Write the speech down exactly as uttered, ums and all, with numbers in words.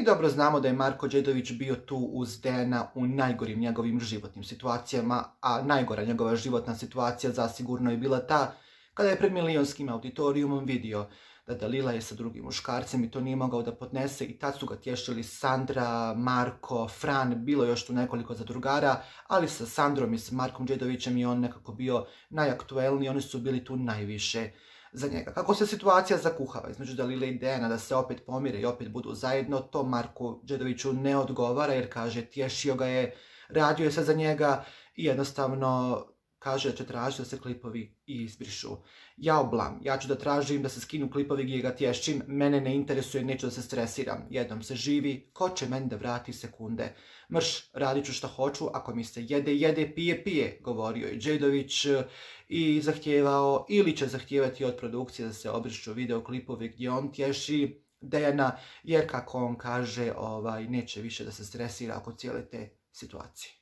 dobro znamo da je Marko Đedović bio tu uz Dejana u najgorim njegovim životnim situacijama, a najgora njegova životna situacija zasigurno je bila ta kada je pred milionskim auditorijumom vidio da Dalila je sa drugim muškarcem i to nije mogao da podnese i tad su ga tješili Sandra, Marko, Fran, bilo još tu nekoliko zadrugara, ali sa Sandrom i sa Markom Đedovićem je on nekako bio najaktuelniji, oni su bili tu najviše za njega. Kako se situacija zakuhava između Dalile i Dejana da se opet pomire i opet budu zajedno, to Marku Đedoviću ne odgovara jer kaže tješio ga je, radio je se za njega i jednostavno kaže da će tražiti da se klipovi izbrišu. Ja oblam, ja ću da tražim da se skinu klipovi gdje ga tješćim, mene ne interesuje, neću da se stresiram. Jednom se živi, ko će meni da vrati sekunde? Mrš, radit ću šta hoću, ako mi se jede, jede, pije, pije, govorio je Đedović i zahtijevao ili će zahtijevati od produkcije da se obrišu videoklipovi gdje on tješi Dejana, jer kako on kaže, ovaj, neće više da se stresira oko cijele te situacije.